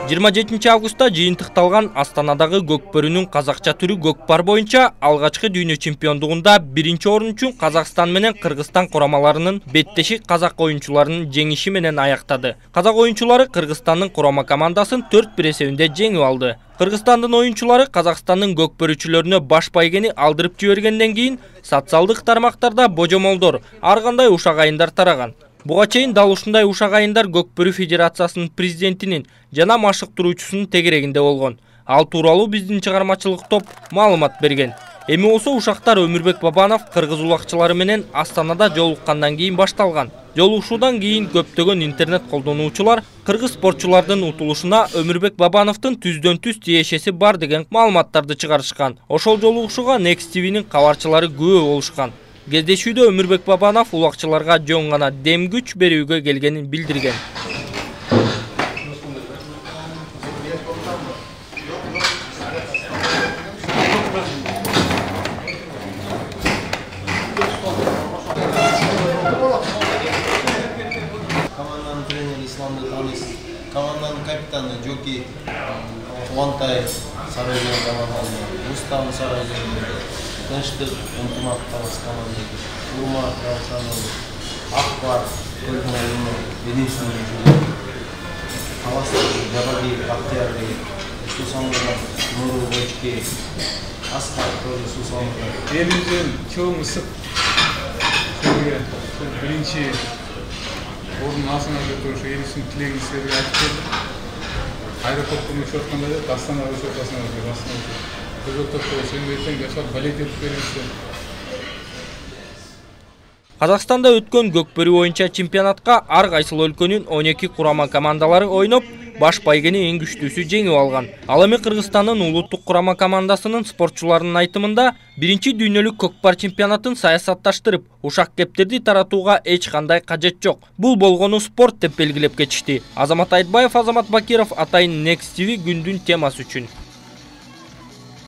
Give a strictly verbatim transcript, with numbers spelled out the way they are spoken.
жыйырма жетинчи августта жыйынтыкталган Астанадагы көкбөрүнүн казакча түрү көкпар боюнча алгачкы дүйнө чемпиондугунда биринчи орун үчүн Казакстан менен Кыргызстан курамаларынын беттеши казак оюнчуларынын жеңиши менен аяктады. Казак оюнчулары Кыргызстандын курама командасын төрт бир эсебинде жеңип алды. Кыргызстандын оюнчулары Казакстандын көкбөрүчүлөрүнө баш байгени алдырып жибергенден кийин социалдык тармактарда божомолдор, ар кандай ушак айындар тараган. Буга чейин дал ушундай ушак айындар Көкбөрү Федерациясынын президентинин жана машыктыруучусунун тегерегинде болгон. Ал тууралуу биздин чыгармачылык топ маалымат берген. Эми болсо ушактар Өмүрбек Бабанов кыргыз улакчылары менен Астанада жолуккандан кийин башталган. Жолугушуудан кийин көптөгөн интернет колдонуучулар кыргыз спортчулардын утулушуна Өмүрбек Бабановдун түздөн түз тиешеси бар деген маалыматтарды чыгарышкан. Ошол жолугушууга Next ти винин кабарчылары күбө болушкан. Кездешүүдө Өмүрбек Бабанов улакчыларга жөн гана дем күч берүүгө келгенин билдирген. Команданын тренери Исламды Танис, команданын капитаны Жоки Кубантай Сарайжан команданы, Рустам Сарайжан, Тынчтык ынтымак талас команда, Урмат Калсанов, Акбар, Көлмөрүнө, Единственный, Таластык, Жабаги, Бактиярби, Сусамурат, Нуру Бочки, Аскар, тоже Сусамурат. Элибизден чоң ысык силерге биринчи орун алсаңар деп ошо элибиздин тилегин силерге айтып бердик. Аэропорттон учуп атканда да Астанага учуп атасыңар деп Астанага. Казакстанда өткөн көкбөрү боюнча чемпионатка ар кайсыл өлкөнүн он эки курама командалары ойноп, баш байгени эң күчтүүсү жеңип алган. Ал эми Кыргызстандын улуттук курама командасынын спортчуларынын айтымында биринчи дүйнөлүк көкпар чемпионатын саясатташтырып, ушак кептерди таратууга эч кандай кажет жок. Бул болгону спорт деп белгилеп кетишти. Азамат Айтбаев, Азамат Бакиров, Атайын Next ти ви күндүн темасы үчүн.